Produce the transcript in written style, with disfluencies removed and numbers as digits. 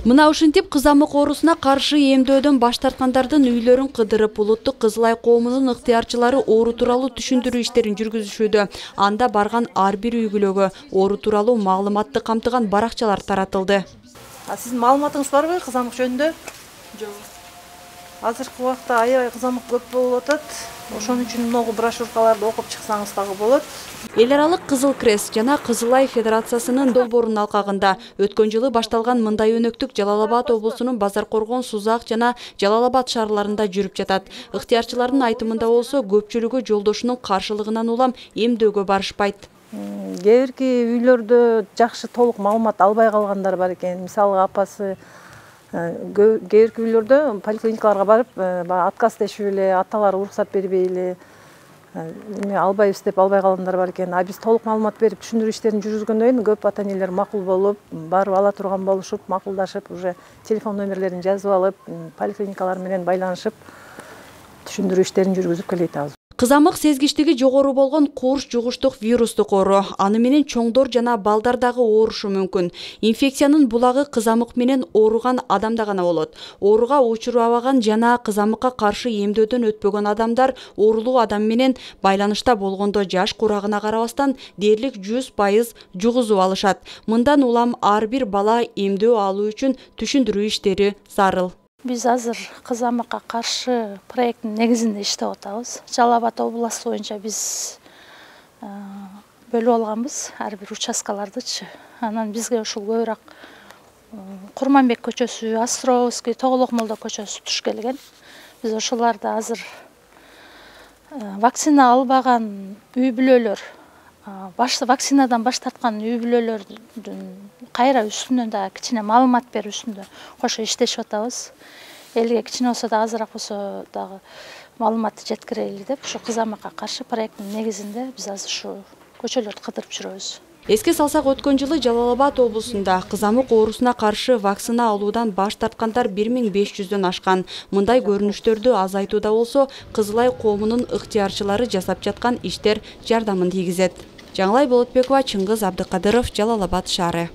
Мына ушинтип кызамык оорусуна каршы эмдөөдөн баш тарткандардын үйлөрүн кыдырып, улуттук Кызыл Ай коомунун ыктыярчылары оору тууралуу түшүндүрүү иштерин жүргүзүшүүдө. Анда барган ар бир үй бүлөгө оору тууралуу маалыматты камтыган баракчалар таратылды. Сиздин маалыматыңыз барбы кызамык жөнүндө? Жок. Азыркы убакта аябай кызамык көп болуп атат. Ошон үчүн могу брошюркаларды окуп чыксаңыз дагы болот. Эл аралык Кызыл Крест жана Кызыл Ай Федерациясынын долбоорунун алкагында өткөн жылы башталган мындай өнөктүк Жалал-Абад облусунун Базар Коргон, Сузак жана Жалал-Абад шаарларында жүрүп жатат. Ыктыярчылардын айтымында болсо, көпчүлүгү жолдошунун каршылыгынан улам эмдөөгө барышпайт. Кээ бирки үйлөрдө жакшы толук маалымат албай калгандар бар экен. Мисалга апасы кээ бирки үйлөрдө поликлиникаларга барып, отказ дешип эле, аталары уруксат бербей эле албайбыз деп албай калгандар бар экен. Биз толук маалымат берип түшүндүрүү иштерин жүргүзгөндөн кийин көп ата энелер макул болуп, барып ала турган болушуп, макулдашып, уже телефон номерлерин жазып алып, поликлиникалар менен байланышып, түшүндүрүү иштерин жүргүзүп келет азыр. Кызамык сезгичтиги жогору болгон курч жугуштук вирустук оору. Аны менен чоңдор жана балдар дагы оорушу мүмкүн. Инфекциянын булагы кызамык менен ооруган адамда гана болот. Ооруга учурабаган жана кызамыкка каршы эмдөөдөн өтпөгөн адамдар оорулуу адам менен байланышта болгондо жаш курагына карабастан дээрлик 100% жугузуп алышат. Мындан улам ар бир бала эмдөө алуу үчүн түшүндүрүү иштери зарыл. Биз азыр кызамыкка каршы проекттин негизинде иштеп атабыз. Жалал-Абад областы боюнча биз бөлүп алганбыз ар бир участкалардычы. Анан бизге ушул көбүрөөк Курманбек көчөсү, Островский, Тоголок молдо көчөсү туш келген. Биз ошоларда азыр вакцина албаган үй бүлөлөр, вакцинадан баш тарткан үй бүлөлөрдүн кайра үстүнөн да кичине маалымат берүү үстүндө кошо иштешип атабыз. Элге кичине болсо да азыраак болсо дагы маалыматты жеткирели деп, ушу кызамыкка каршы проекттин негизинде биз азыр ушу көчөлөрдү кыдырып жүрөбүз. Эске салсак, өткөн жылы Жалал-Абад облусунда кызамык оорусуна каршы вакцина алуудан баш тарткандар 1500дөн ашкан. Мындай көрүнүштөрдү азайтууда болсо, Кызыл Ай коомунун ыктыярчылары жасап жаткан иштер жардамын тийгизет. Жаңылай Болотбекова, Чыңгыз Абдыкадыров, Жалал-Абад шаары.